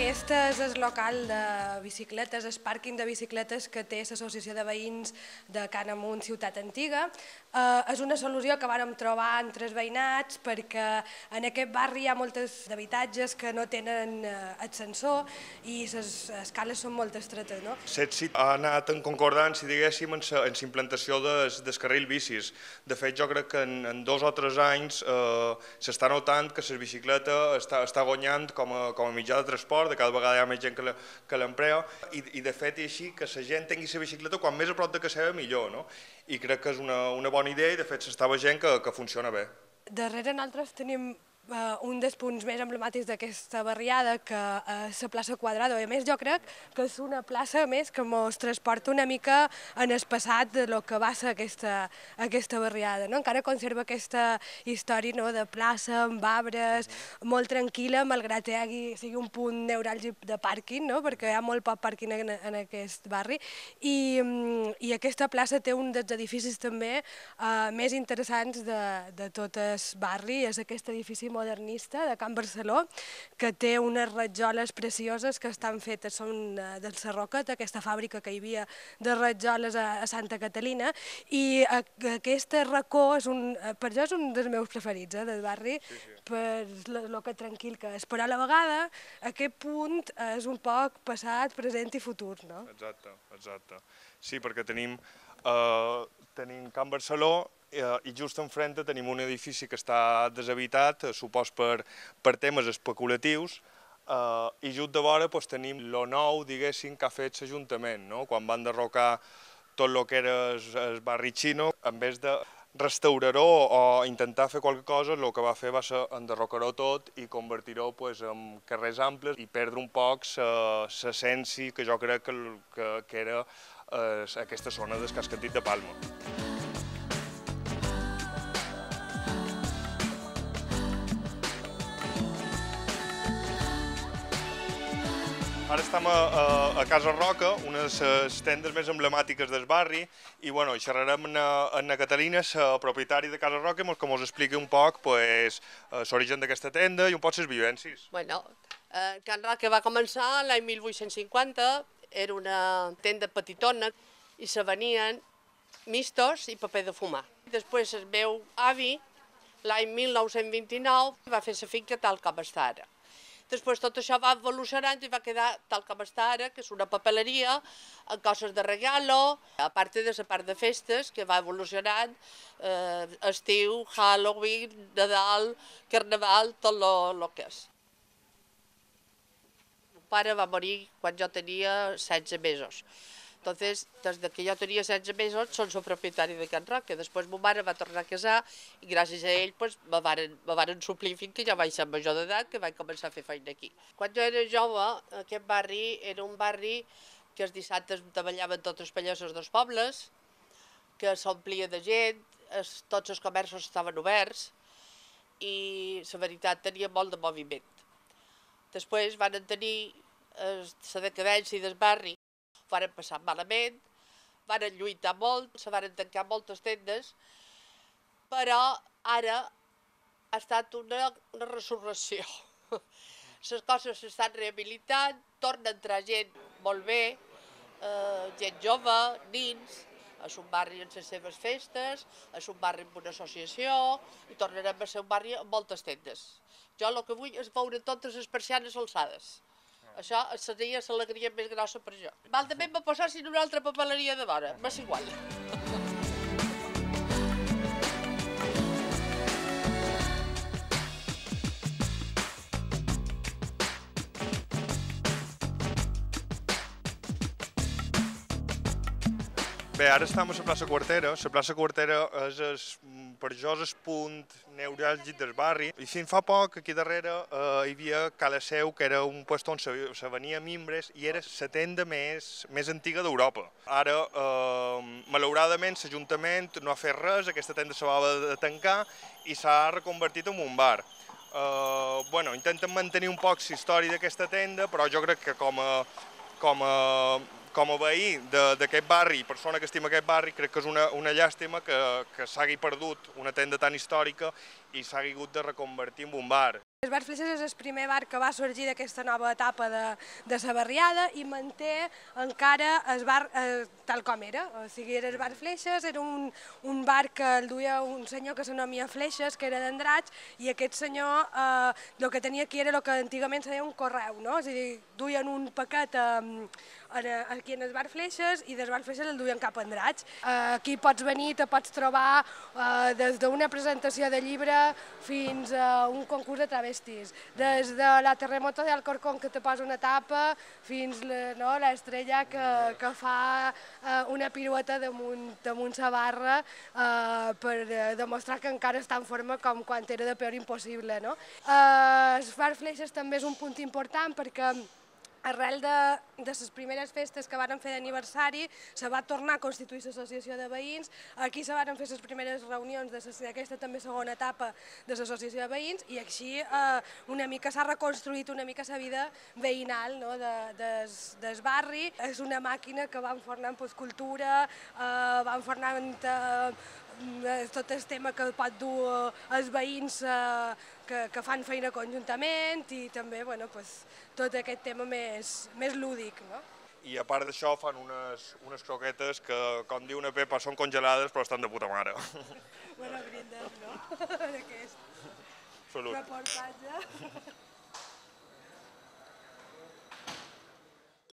Aquest és el local de bicicletes, el pàrquing de bicicletes que té l'Associació de Veïns de Can Amunt, Ciutat Antiga. És una solució que vàrem trobar entre els veïnats perquè en aquest barri hi ha molts habitatges que no tenen ascensor i les escales són molt estretes. No? L'èxit ha anat en concordança, diguéssim, en la implantació del carril bicis. De fet, jo crec que en 2 o 3 anys s'està notant que la bicicleta està guanyant com a mitjà de transport, de cada vegada hi ha més gent que l'emplea, i de fet és així que la gent tingui la bicicleta quan més a prop de casa seva millor, no? I crec que és una bona idea i de fet s'està veient que funciona bé. Darrere nosaltres tenim un dels punts més emblemàtics d'aquesta barriada, que és la plaça Quadrado. A més, jo crec que és una plaça més que ens transporta una mica en el passat de lo que va ser aquesta barriada. No? Encara conserva aquesta història, no?, de plaça, amb arbres, molt tranquil·la, malgrat que sigui un punt neuràlgic de pàrquing, no? Perquè hi ha molt poc pàrquing en aquest barri. I aquesta plaça té un dels edificis també més interessants de tot el barri, és aquest edifici modernista de Can Barceló, que té unes rajoles precioses que estan fetes, són del Sarroquet, aquesta fàbrica que hi havia de rajoles a Santa Catalina, i aquest racó per jo és un dels meus preferits del barri, per lo que tranquil que és, però a la vegada aquest punt és un poc passat, present i futur, no? Exacte. Sí, perquè tenim Can Barceló i just enfrente tenim un edifici que està deshabitat, supos per temes especulatius, i just de vora tenim lo nou, diguéssim, que ha fet l'Ajuntament, no? Quan van derrocar tot el que era el barri xino, en vez de restaurar-ho o intentar fer qualque cosa, el que va fer va ser enderrocar-ho tot i convertir-ho en carrers amples i perdre un poc l'essència que jo crec que era aquesta zona del casc antic de Palma. Ara estem a Casa Roca, una de les tendes més emblemàtiques del barri, i xerrarem amb Catalina, la propietària de Casa Roca, que ens expliqui un poc l'origen d'aquesta tenda i un poc les vivències. Can Roca va començar l'any 1850, era una tenda petitona i se venien mistos i paper de fumar. Després el meu avi, l'any 1929, va fer la finca tal com està ara. Després tot això va evolucionant i va quedar tal com està ara, que és una papeleria amb coses de regalo, a part de la part de festes, que va evolucionant, estiu, Halloween, Nadal, Carnaval, tot el que és. Mon pare va morir quan jo tenia 16 mesos. Entonces, des que jo tenia 16 mesos, són el propietari de Can Roca. Després mon mare va tornar a casar i gràcies a ell me varen suplir fins que ja vaig ser major d'edat, que vaig començar a fer feina aquí. Quan jo era jove, aquest barri era un barri que els dissabtes treballaven tots els pallassos dels pobles, que s'omplia de gent, tots els comerços estaven oberts i, la veritat, tenia molt de moviment. Després van tenir la decadència del barri, van passar malament, van lluitar molt, se van tancar moltes tendes, però ara ha estat una resurrecció. Les coses s'estan rehabilitant, torna a entrar gent molt bé, gent jove, nins, és un barri amb les seves festes, és un barri amb una associació, i tornarem a ser un barri amb moltes tendes. Jo el que vull és veure totes les persianes alçades. Això seria l'alegria més grossa per jo. Val també me posessin una altra papeleria de vora, m'és igual. Bé, ara estem a la plaça Quartera. La plaça Quartera és per jo el punt neuràlgic del barri. I fins fa poc, aquí darrere, hi havia Cala Seu, que era un lloc on se venia mimbres i era la tenda més antiga d'Europa. Ara, malauradament, l'Ajuntament no ha fet res, aquesta tenda se va de tancar i s'ha reconvertit en un bar. Intenten mantenir un poc la història d'aquesta tenda, però jo crec que com a veí d'aquest barri i persona que estima aquest barri, crec que és una llàstima que s'hagi perdut una tenda tan històrica i s'hagi hagut de reconvertir en un bar. El bar Fleixes és el primer bar que va sorgir d'aquesta nova etapa de la barriada i manté encara el bar tal com era. O sigui, era el bar Fleixes, era un bar que el duia un senyor que s'anomia Fleixes, que era d'Andratx, i aquest senyor el que tenia aquí era el que antigament se deia un correu, no? És a dir, duien un paquet aquí en el bar Fleixes i del bar Fleixes el duien cap a Andratx. Aquí pots venir, te pots trobar des d'una presentació de llibre fins a un concurs de travestis, des de la terremoto de Alcorcón que te posa una tapa fins l'estrella que fa una pirueta damunt la barra per demostrar que encara està en forma com quan era de peor impossible. El bar Fleixes també és un punt important perquè arrel de les primeres festes que varen fer d'aniversari se va tornar a constituir l'associació de veïns, aquí se varen fer les primeres reunions d'aquesta també segona etapa de l'associació de veïns i així una mica s'ha reconstruït una mica la vida veïnal del barri. És una màquina que va enfornant cultura, va enfornant tot el tema que pot dur els veïns que fan feina conjuntament i també tot aquest tema més lúdic. I a part d'això fan unes croquetes que, com diu una Pepa, són congelades però estan de puta mare. Bueno, brindem, no? D'aquest Salut. reportatge.